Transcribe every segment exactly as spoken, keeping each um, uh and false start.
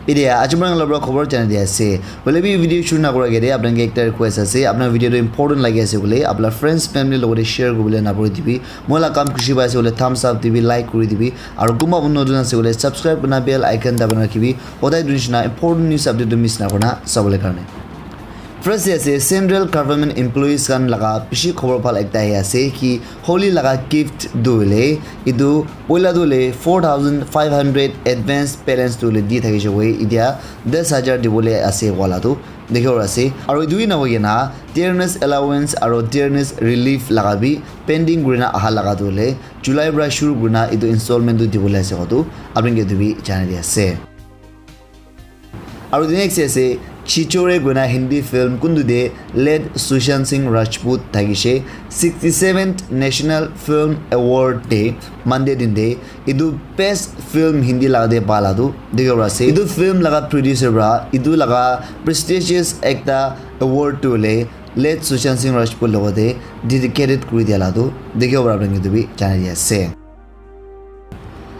Etia aji moi khan la para khobor janai di ase. Hoile bi video shuru na kura agete apni khan ke ekta request ase, apni khan video tu important lagi ase koile apni la friends family logote share kuribole na puri dibi. Moi la kam khushi pai ase koile thumbs up dibi, like kuri dibi, aru kunba manu notun ase koile subscribe kurina bell icon dabai na rakhibi. Hodai etu nishina important news update tu miss na kurina sabole karne. First te ase central government employees khan laga bishi khobor bhal ekta ahi ase ki Holi laga gift tu hoile etu poila tu hoile four thousand five hundred advance balance tu hoile di thakishe koi, etia das hajar dibole ase wala tu dikhibo ase. Aru etu hi nahoi kena dearness allowance aru dearness relief laga bi pending kurina aha laga tu hoile July para shuru kurina etu installment tu dibole ase koa tu apni khan ke etu bi janai di ase. Aru the next ase Chichore koina Hindi film kuntu te late Sushant Singh Rajput thakishe sixty-seventh National Film Award te Monday din te etu best film Hindi laga te pala tu dikhibo ase. Etu film laga producer para etu laga prestigious ekta award tu hoile late Sushant Singh Rajput logote dedicated kuri dia la tu dikhibo para apni khan ke etu bi janai di ase.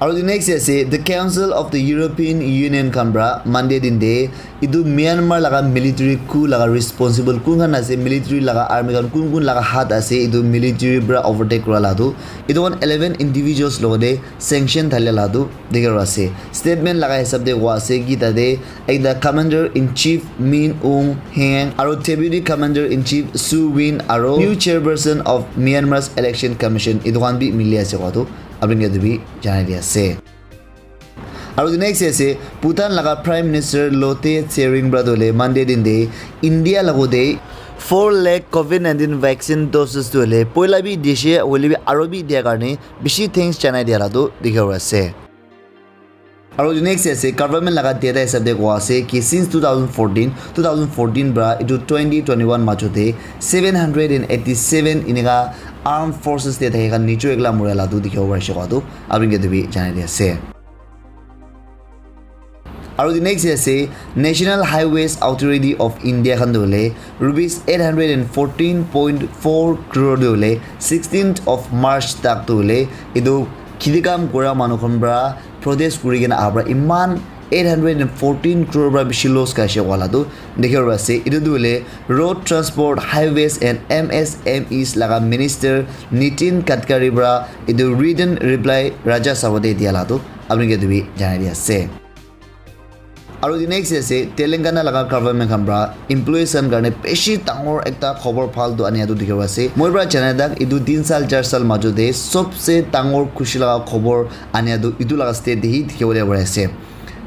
Aru the next ase the Council of the European Union khan para Monday din te etu Myanmar laga military coup laga responsible kun khan ase, military laga army khan kun kun laga hat ase etu military para overtake kura la tu etu khan eleven individuals logote sanction thalia la tu dikhibo ase. Statement laga hisab te koa ase ki tate ekta commander in chief Min Aung Hlaing aru deputy commander in chief Su Win aru new chairperson of Myanmar's election commission etu khan bi mili ase koa tu apni khan ke etu bi janai di ase. Aru the next ase Bhutan laga Prime Minister Lotay Tshering para tu hoile Monday din te India logote four lakh covid nineteen vaccine doses tu hoile poila bi dishe hoile bi aru bi dia karne bishi thanks janai dia la tu dikhibo ase. Aru the next ase government laga data hisab te koa ase ki since two thousand fourteen, two thousand fourteen para etu twenty twenty-one majo te seven hundred and eighty-seven enika armed forces te thaki khan nijo ekla mura la tu dikhibo parise koa tu apni khan ke etu bi janai di ase. Aru the next ase National Highways Authority of India khan tu hoile rupees eight hundred and fourteen point four crore tu hoile sixteenth of March tak tu hoile etu kheti kam kura manu khan para protest kuri kena aha para iman eight hundred and fourteen crore para bishi loss kaise wala tu dikhibo ase. Etu tu hoile Road Transport, Highways and M S M Es laga Minister Nitin Gadkari para etu written reply Rajya Sabha te dia la tu apni khan ke etu bi janai di ase. Aru the next ase Telangana laga government khan para employees khan karne bishi dangor ekta khobor bhal tu ania tu dikhibo ase. Moi para janai tak etu tin saal char saal majo te sobse dangor khushi laga khobor ania tu etu laga state te hi dikhibole pari ase.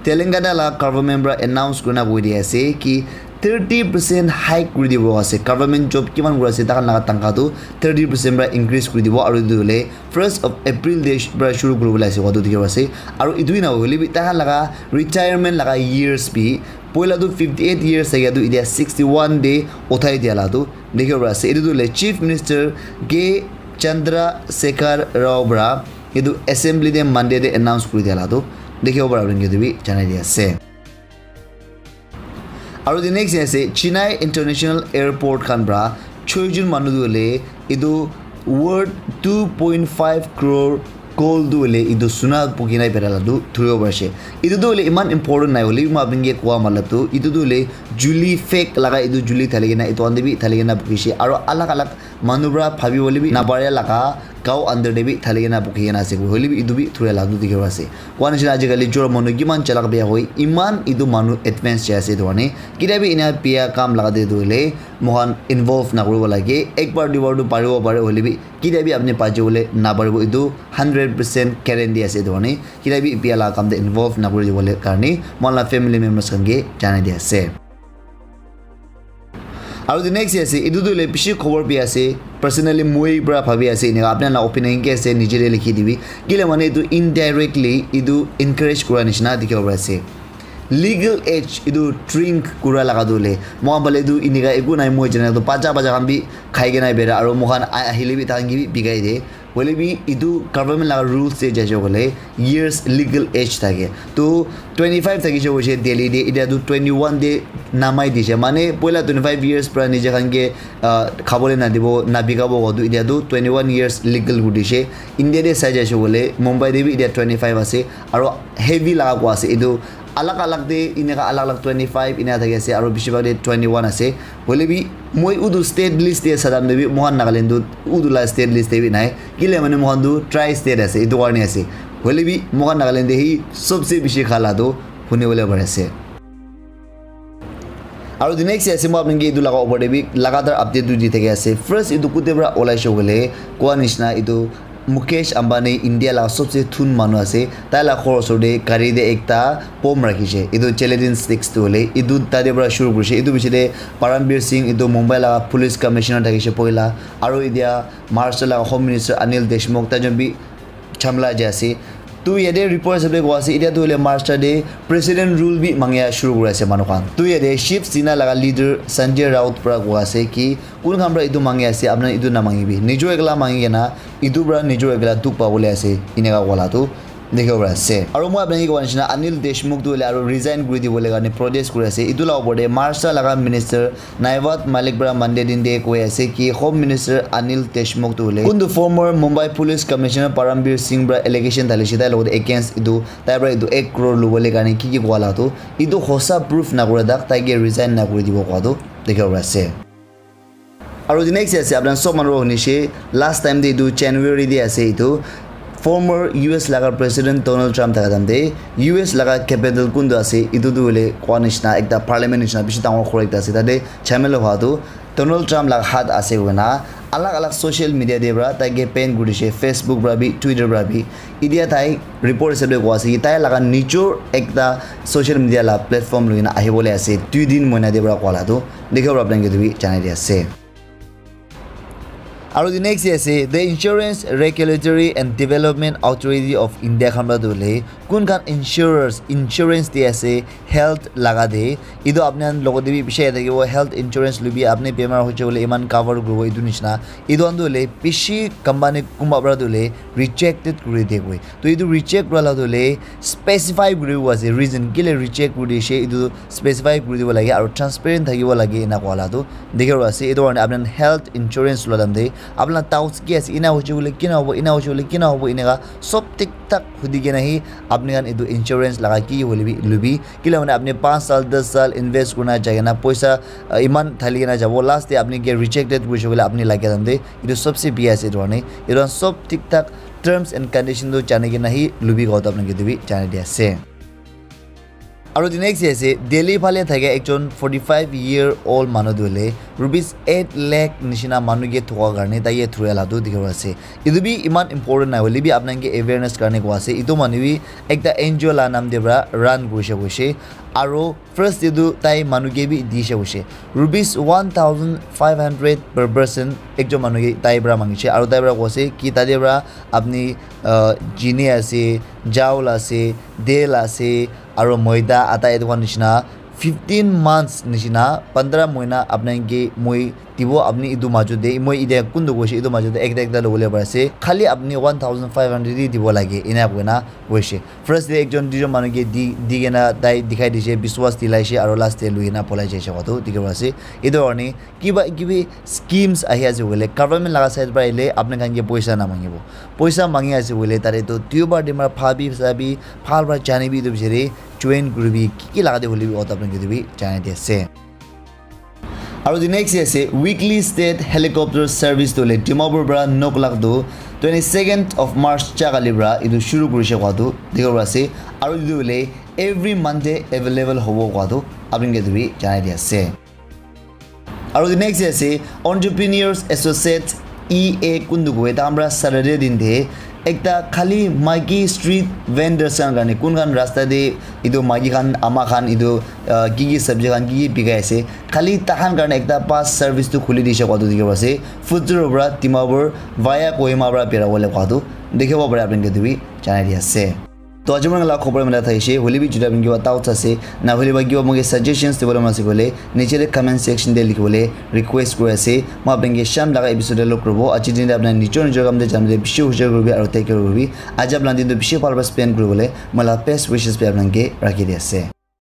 Telangana laga government para announce kurina koi di ase ki thirty percent hike kuri dibo ase. Government job kiman kuri ase takhan laga tangka tu thirty percent para increase kuri dibo aru etu hoile first of April te para shuru kuribole ase koa tu dikhibo ase. Aru etu hi na hoile bi takhan laga retirement laga years bi poila tu fifty eight years thakia tu etia sixty one te uthai dia la tu dikhibo pari ase. Etu tu hoile Chief Minister K Chandrasekhar Rao para etu assembly te Monday te announce kuri dia la tu dikhibo para apni khan ke etu bi janai di ase. Aru the next ase Chennai International Airport khan para choi jon manu tu hoile etu worth two point five crore gold tu hoile etu suna bukhi na bera la tu thuribo parise. Etu tu hoile iman important nai hoile bi moi apni ke koa matlab tu etu tu hoile juli fake laga etu juli thali kena etu khan te bi thali kena bukhise aru alag alag manu para bhabi bole bi napare laga gao under te bi thali kena bukhi kena ase hoile bi etu bi thuria la tu dikhi ase. Koa nishina ajikali jor manu kiman chalak bia hoi iman etu manu advance jai ase etu karne kitia bi ena bia kam laga te tu hoile moikhan involve nakuribo lage. Ekbar duibar tu paribo pare hoile bi kitia bi apni bachibole naparibo, etu hundred percent guarantee ase. Etu karne kitia bi bia laga kam te involve nakuri dibole karne moikhan la family members khan ke janai di ase. Aru the next ase, etu tu hoile bishi khobor bi ase, personally moi para bhabi ase, enika apni la opinion ki ase, niche te likhi dibi. Kile mane etu indirectly etu encourage kura nishina dikhibo pari ase. Legal age etu drink kura laga tu hoile, moikhan phale tu enika eku nai, moi jana tu bacha bacha khan bi khai kena bera, aru moikhan a-, ahile bi taikhan ke bi bikai de. Hoile bi etu government laga rules te jaise koile years legal age thake. To twenty five thakise koise Delhi te, etia tu twenty one te namai dise. Mane poila twenty five years para nije khan ke, ah, khabole nadibo, nabikabo koa tu etia tu twenty one years legal kuri dise. India te sai jaise koile Mumbai te bi etia twenty five ase. Aru heavy laga koa ase etu Alag alag te eneka alag alag twenty five eneka thaki ase, aru bishi bhag te twenty one ase. Hoile bi moi utu state list te sadam te bi moikhan Nagaland tu utu la state list te bi nai. Kile mane moikhan tu tri state ase, etu karne ase. Hoile bi moikhan Nagaland te hi sobse bishi khala tu huni bole pari ase. Aru the next ase, moi apni ke etu laga opor te bi lagatar update tu di thaki ase. First, etu kute para olaise koile, koa nishina etu Mukesh Ambani India laga sobse thun manu ase. Tai laga ghor osor te gari te ekta bomb rakhishe. Etu gelatin sticks tu hoile, etu tate para shuru kurishe. Etu piche te Paramveer Singh, etu Mumbai laga police commissioner thakishe poila. Aru etia Maharashtra laga Home Minister Anil Deshmukh, tai jon bi jhamla jai ase. Tu yate report hisab te koa ase, etia tu hoile Maharashtra te president rule bi mangia shuru kuri ase manu khan. Tu yate Shiv Sena laga leader Sanjay Raut para koa ase ki kun khan para etu mangi ase, apna etu na mangibi. Nijor ekla mangi kena etu para nijor ekla dukh pabole ase, eneka koa la tu dikhibo pari ase. Aru moi apni ke koa nishina Anil Deshmukh tu hoile aru resign kuri dibole karne protest kuri ase. Etu la opor te Maharashtra laga minister Naiwat Malik para Monday din te koi ase ki Home Minister Anil Deshmukh tu hoile kuntu former Mumbai Police Commissioner Paramveer Singh para allegation dhalishe tai logot against etu tai para etu ek crore lubole karne ki ki koa la tu etu hosa proof na kura tak tai ke resign na kuri dibo koa tu dikhibo pari ase. Aru the next ase, apna sob manu hunishe, last time te etu January te ase etu, former U S laga President Donald Trump thaka time te, U S laga capital kuntu ase, etu tu hoile koa nishina ekta parliament nishina bishi dangor ghor ekta ase, tate jhamela hua tu Donald Trump laga hat ase koina alag alag social media te para tai ke ban kuri dishe, Facebook para bi, Twitter para bi. Etia tai report hisab te koa ase ki tai laga nijor ekta social media la platform loi kena ahi bole ase, dui din moina te para koa la tu dikhibo para apni ke etu bi janai di ase. Aru the next ase, the Insurance Regulatory and Development Authority of India khan para tu hoile kun khan insurers, insurance di ase health laga te, etu apni khan logot te bi bishi ahi thakibo, health insurance lobi apni bemar hoise koile iman cover kuribo etu nishina. Etu khan tu hoile bishi company kunba para tu hoile rejected kuri de koi. To etu reject kura la tu hoile specify kuri bo ase reason kile reject kuri dishe, etu specify kuri dibo lage aru transparent thakibo lage ena koa la tu dikhibo ase. Etu karne apni khan health insurance lua time te apni la doubts ki ase, ena hoise koile kina hobo, ena hoise koile kina hobo, eneka sob thik thak hudi kena hi apni khan etu insurance laga ki hoile bi lubi. Kile mane apni panch sal, das sal invest kurina jai kena poisa, ah, iman thali kena jabo, last te apni ke rejected kurise koile apni laga time te etu sobse biya ase. Etu karne etu khan sob thik thak terms and condition tu jani kena hi lubi koa tu apni ke etu bi janai di ase. Aru the next ase, Delhi phale thaka ekjon forty five year old manu tu hoile rupees eight lakh nishina manu ke thoka karne tai ke thura la tu dikhibo ase. Etu bi iman important nai hoile bi apni khan ke awareness karne koa ase. Etu manu bi ekta N G O la naam te para run kurise koise. Aru first te tu tai manu ke bi dishe koise. Rupees one thousand five hundred per person ekjon manu ke tai para mangishe. Aru tai para koa ase ki tate para apni, ah, chini ase, chawal ase, dal ase, aru maida, atta etu khan nishina fifteen months nishina, pondra mohina apni khan ke moi dibo, apni etu majot te, moi etia kuntu koise, etu majot te ekta ekta lobole pari ase, khali apni one thousand five hundred hi dibo lage, ena koina koise. First te ekjon duijon manu ke di, di kena tai dikhai dishe, biswas dilaishe, aru last te lui kena polai jaise koa tu dikhibo ase. Etu karne kiba kibi schemes ahi ase koile, government laga side para ahile apni khan ke poisa na mangibo. Poisa mangi ase koile, tate tu duibar tinbar bhabi sabi, bhal para jani bi etu bichari join kuribi, ki ki laga te hoile bi auto apni ke etu bi janai di ase. Aru the next ase, weekly state helicopter service tu hoile Dimapur para Noklak tu twenty second of March cha kali para etu shuru kurise koa tu dikhibo ase. Aru etu hoile every Monday available hobo koa tu apni ke etu bi janai di ase. Aru the next ase, Entrepreneurs Associate, E A kuntu koi, tai khan para Saturday din te ekta khali maiki street vendors khan karne, kun khan rasta te etu maiki khan, ama khan etu, ah, ki ki sabji khan ki ki bikai ase, khali tai khan karne ekta bus service tu khuli dishe koa tu dikhibo ase. Futsur para Dimapur via Kohima para bera bole koa tu dikhibo pare, apni ke etu bi janai di ase. To aji moi laga khobor mela thaishe, hoile bi juda apni kiba doubts ase, na hoile ba kiba moke suggestions dibole mon ase koile, niche te comment section te likhi bole request kuri ase. Moi apni ke sham laga episode te log kuribo. Aji din te apni nijor nijor kam te jam te bishi hujai kuribi aru take care kuribi. Aji apni din tu bishi bhal para spend kuribole moi laga best wishes bi apni ke rakhi di ase.